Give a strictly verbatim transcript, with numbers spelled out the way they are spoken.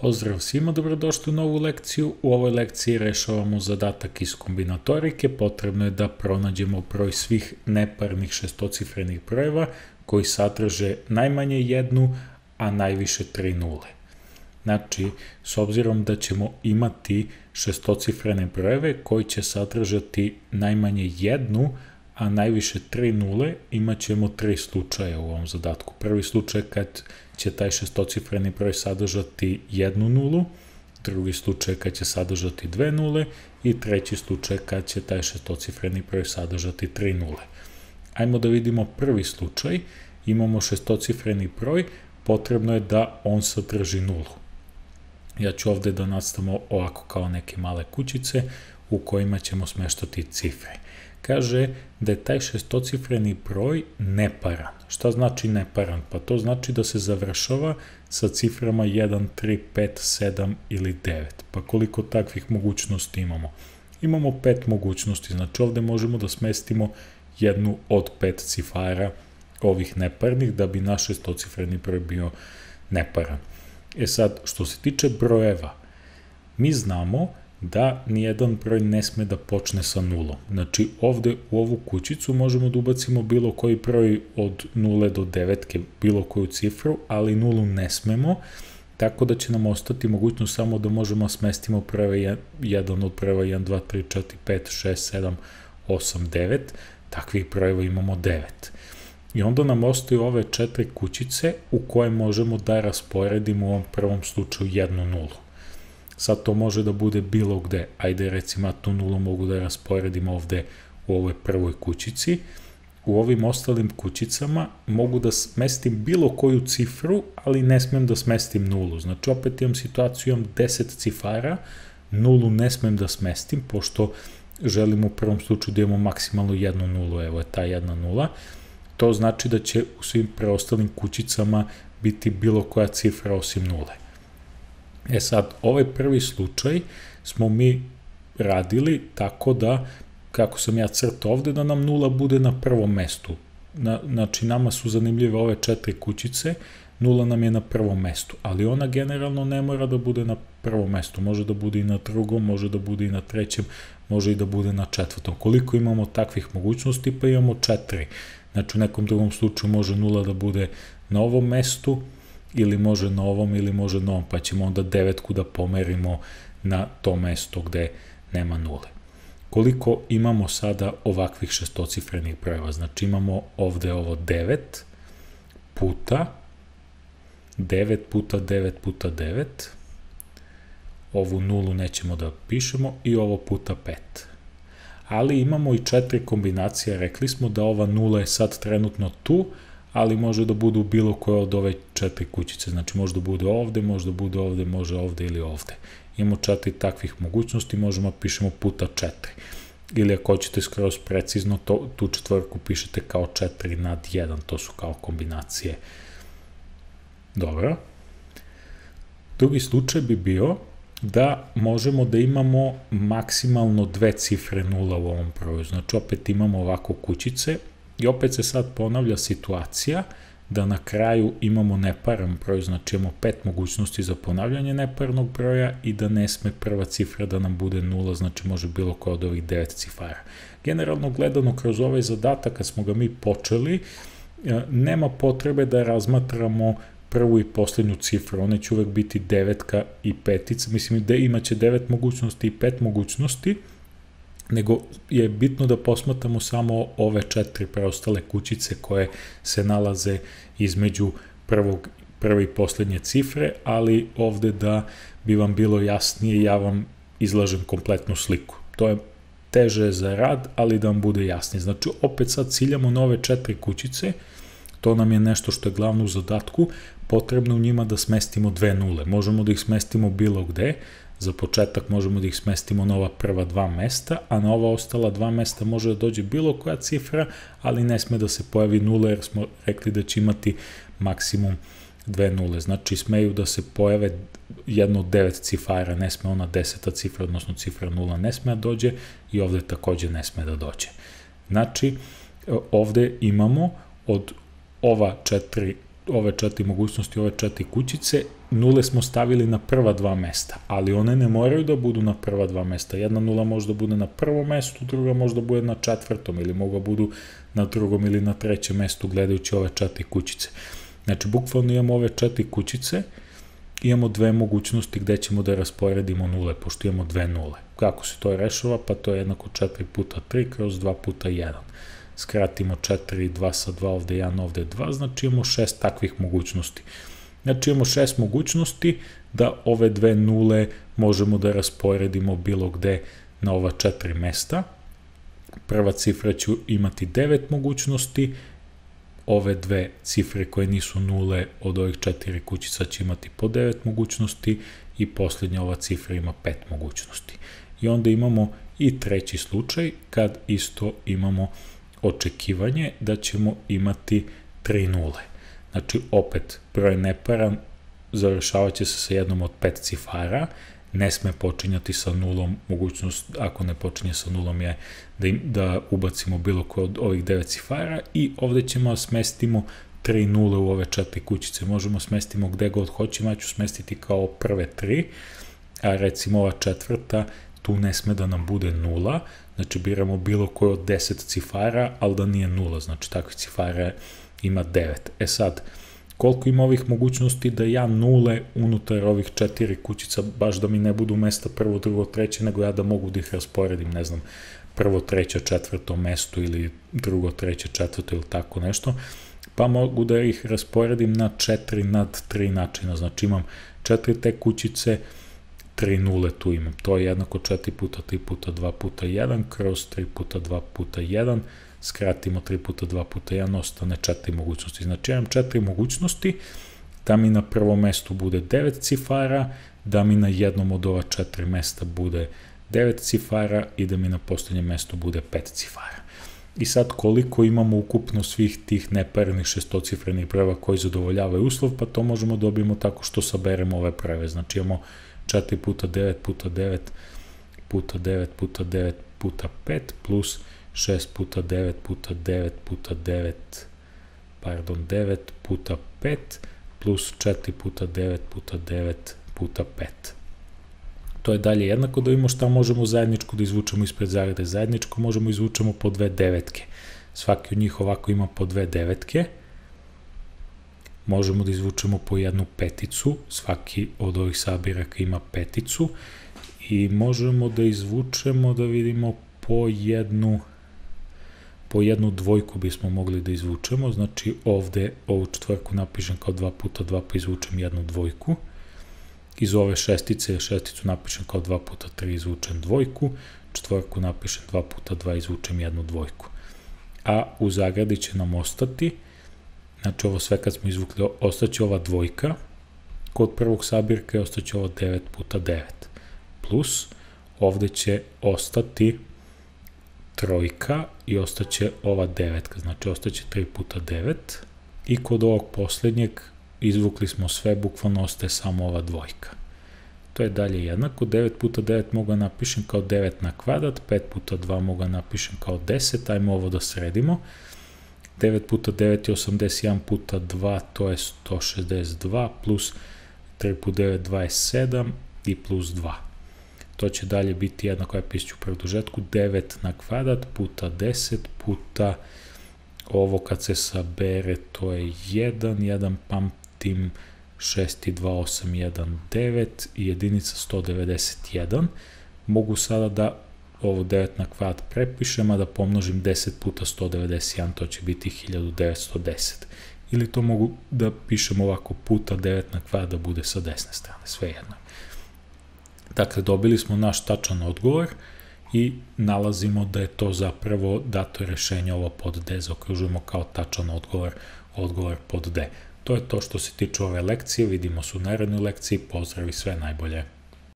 Pozdrav svima, dobrodošli u novu lekciju. U ovoj lekciji rešavamo zadatak iz kombinatorike. Potrebno je da pronađemo broj svih neparnih šestocifrenih brojeva koji sadrže najmanje jednu, a najviše tri nule. Znači, s obzirom da ćemo imati šestocifrene brojeve koji će sadržati najmanje jednu, a najviše tri nule, imat ćemo tri slučaja u ovom zadatku. Prvi slučaj kad će taj šestocifreni broj sadržati jednu nulu, drugi slučaj kad će sadržati dve nule i treći slučaj kad će taj šestocifreni broj sadržati tri nule. Ajmo da vidimo prvi slučaj. Imamo šestocifreni broj, potrebno je da on sadrži nulu. Ja ću ovde da nastavimo ovako kao neke male kućice u kojima ćemo smeštati cifre. Kaže da je taj šestocifreni broj neparan. Šta znači neparan? Pa to znači da se završava sa ciframa jedan, tri, pet, sedam ili devet. Pa koliko takvih mogućnosti imamo? Imamo pet mogućnosti, znači ovde možemo da smestimo jednu od pet cifara ovih neparnih da bi naš šestocifreni broj bio neparan. E sad, što se tiče brojeva, mi znamo da nijedan broj ne sme da počne sa nulom. Znači, ovde u ovu kućicu možemo da ubacimo bilo koji broj od nule do devetke, bilo koju cifru, ali nulu ne smemo, tako da će nam ostati mogućnost samo da možemo smestimo brojeve jedan od brojeva jedan, dva, tri, četiri, pet, šest, sedam, osam, devet, takvih brojeva imamo devet. I onda nam ostaju ove četiri kućice u koje možemo da rasporedimo u ovom prvom slučaju jednu nulu. Sad to može da bude bilo gde. Ajde recimo ja tu nulu mogu da rasporedim ovde u ovoj prvoj kućici. U ovim ostalim kućicama mogu da smestim bilo koju cifru, ali ne smem da smestim nulu. Znači opet imam situaciju, imam deset cifara, nulu ne smem da smestim, pošto želim u prvom slučaju da imamo maksimalno jednu nulu, evo je ta jedna nula. To znači da će u svim preostalim kućicama biti bilo koja cifra osim nule. E sad, ovaj prvi slučaj smo mi radili tako da, kako sam ja crtao ovde, da nam nula bude na prvom mestu. Na, znači, nama su zanimljive ove četiri kućice, nula nam je na prvom mestu, ali ona generalno ne mora da bude na prvom mestu. Može da bude i na drugom, može da bude i na trećem, može i da bude na četvrtom. Koliko imamo takvih mogućnosti? Pa imamo četiri. Znači, u nekom drugom slučaju može nula da bude na ovom mestu, ili može na ovom, ili može na ovom, pa ćemo onda devetku da pomerimo na to mesto gde nema nule. Koliko imamo sada ovakvih šestocifrenih brojeva? Znači imamo ovde ovo devet puta devet puta devet puta devet, ovu nulu nećemo da pišemo, i ovo puta pet. Ali imamo i četiri kombinacije, rekli smo da ova nula je sad trenutno tu, ali može da bude u bilo koje od ove četiri kućice. Znači može da bude ovde, može da bude ovde, može ovde ili ovde. Imamo četiri takvih mogućnosti, možemo da pišemo puta četiri. Ili ako hoćete skroz precizno, to, tu četvorku pišete kao četiri nad jedan, to su kao kombinacije. Dobro. Drugi slučaj bi bio da možemo da imamo maksimalno dve cifre nula u ovom broju. Znači opet imamo ovako kućice, i opet se sad ponavlja situacija da na kraju imamo neparan broj, znači imamo pet mogućnosti za ponavljanje neparnog broja i da ne sme prva cifra da nam bude nula, znači može bilo koja od ovih devet cifara. Generalno gledano kroz ovaj zadatak, kad smo ga mi počeli, nema potrebe da razmatramo prvu i poslednju cifru, one će uvek biti devetka i petica, mislim da imaće devet mogućnosti i pet mogućnosti, nego je bitno da posmatramo samo ove četiri preostale kućice koje se nalaze između prvog, prve i poslednje cifre, ali ovde da bi vam bilo jasnije, ja vam izlažem kompletnu sliku. To je teže za rad, ali da vam bude jasnije. Znači, opet sad ciljamo na ove četiri kućice, to nam je nešto što je glavno u zadatku, potrebno u njima da smestimo dve nule. Možemo da ih smestimo bilo gde. Za početak možemo da ih smestimo na ova prva dva mesta, a na ova ostala dva mesta može da dođe bilo koja cifra, ali ne sme da se pojavi nula, jer smo rekli da će imati maksimum dve nule. Znači smeju da se pojave jedno od devet cifara, ne sme ona deseta cifra, odnosno cifra nula ne sme da dođe, i ovde takođe ne sme da dođe. Znači ovde imamo od ova četiri ove četiri mogućnosti, ove četiri kućice, nule smo stavili na prva dva mesta, ali one ne moraju da budu na prva dva mesta. Jedna nula može da bude na prvom mestu, druga može da bude na četvrtom, ili mogu da budu na drugom ili na trećem mestu, gledajući ove četiri kućice. Znači, bukvalno imamo ove četiri kućice, imamo dve mogućnosti gde ćemo da rasporedimo nule, pošto imamo dve nule. Kako se to rešava? Pa to je jednako četiri puta tri kroz dva puta jedan. Skratimo četiri, dva sa dva, ovde jedan, ovde dva, znači imamo šest takvih mogućnosti. Znači imamo šest mogućnosti da ove dve nule možemo da rasporedimo bilo gde na ova četiri mesta. Prva cifra će imati devet mogućnosti, ove dve cifre koje nisu nule od ovih četiri kućica će imati po devet mogućnosti i posljednja ova cifra ima pet mogućnosti. I onda imamo i treći slučaj kad isto imamo očekivanje da ćemo imati tri nule. Znači, opet, broj neparan završavat će se sa jednom od pet cifara, ne sme počinjati sa nulom, mogućnost ako ne počinje sa nulom je da, im, da ubacimo bilo koje od ovih devet cifara i ovde ćemo smestimo tri nule u ove četiri kućice. Možemo smestimo gde god hoćemo, ja ću smestiti kao prve tri, a recimo ova četvrta, tu ne sme da nam bude nula, znači biramo bilo koje od deset cifara, ali da nije nula, znači takvih cifara ima devet. E sad, koliko ima ovih mogućnosti da ja nule unutar ovih četiri kućica, baš da mi ne budu mesta prvo, drugo, treće, nego ja da mogu da ih rasporedim, ne znam, prvo, treće, četvrto mesto ili drugo, treće, četvrto ili tako nešto, pa mogu da ih rasporedim na četiri nad tri načina, znači imam četiri te kućice, tri nule tu imam, to je jednako četiri puta tri puta dva puta jedan kroz tri puta dva puta jedan, skratimo tri puta dva puta jedan, ostane četiri mogućnosti. Znači, imam četiri mogućnosti, da mi na prvom mestu bude devet cifara, da mi na jednom od ova četiri mesta bude devet cifara i da mi na posljednjem mestu bude pet cifara. I sad, koliko imamo ukupno svih tih neparenih šestocifrenih brojeva koji zadovoljavaju uslov, pa to možemo dobijemo tako što saberemo ove brojeve. Znači, imamo četiri puta devet puta devet puta devet puta devet puta pet plus šest puta devet puta devet puta devet, pardon, devet puta pet plus četiri puta devet puta devet puta pet. To je dalje jednako, da vidimo šta možemo zajedničko da izvučemo ispred zarade. Zajedničko možemo izvučemo po dve devetke. Svaki od njih ovako ima po dve devetke. Možemo da izvučemo po jednu peticu. Svaki od ovih sabiraka ima peticu. I možemo da izvučemo, da vidimo, po jednu po jednu dvojku bismo mogli da izvučemo, znači ovde ovu četvorku napišem kao dva puta dva pa izvučem jednu dvojku, iz ove šestice šesticu napišem kao dva puta tri izvučem dvojku, četvorku napišem dva puta dva izvučem jednu dvojku, a u zagradi će nam ostati, znači ovo sve kad smo izvukli, ostaće ova dvojka, kod prvog sabirka je ostaće ovo devet puta devet, plus ovde će ostati trojka i ostaće ova devetka, znači ostaće tri puta devet i kod ovog posljednjeg izvukli smo sve, bukvalno ostaje samo ova dvojka. To je dalje jednako, devet puta devet mogu napišem kao devet na kvadrat, pet puta dva mogu napišem kao deset, ajmo ovo da sredimo. devet puta devet je osamdeset jedan puta dva, to je sto šezdeset dva, plus tri puta devet, dvadeset sedam i plus dva. To će dalje biti jednako, ja pišću u produžetku, devet na kvadrat puta deset puta ovo kad se sabere, to je jedan, jedan pamtim, šest i dva, osam, jedan, devet i jedinica sto devedeset jedan. Mogu sada da ovo devet na kvadrat prepišem, a da pomnožim deset puta sto devedeset jedan, to će biti hiljadu devetsto deset. Ili to mogu da pišem ovako puta devet na kvadrat da bude sa desne strane, sve jedno. Dakle, dobili smo naš tačan odgovor i nalazimo da je to zapravo dato rešenje, ovo pod D zaokružujemo kao tačan odgovor, odgovor pod D. To je to što se tiče ove lekcije, vidimo se u narednoj lekciji, pozdrav i sve najbolje.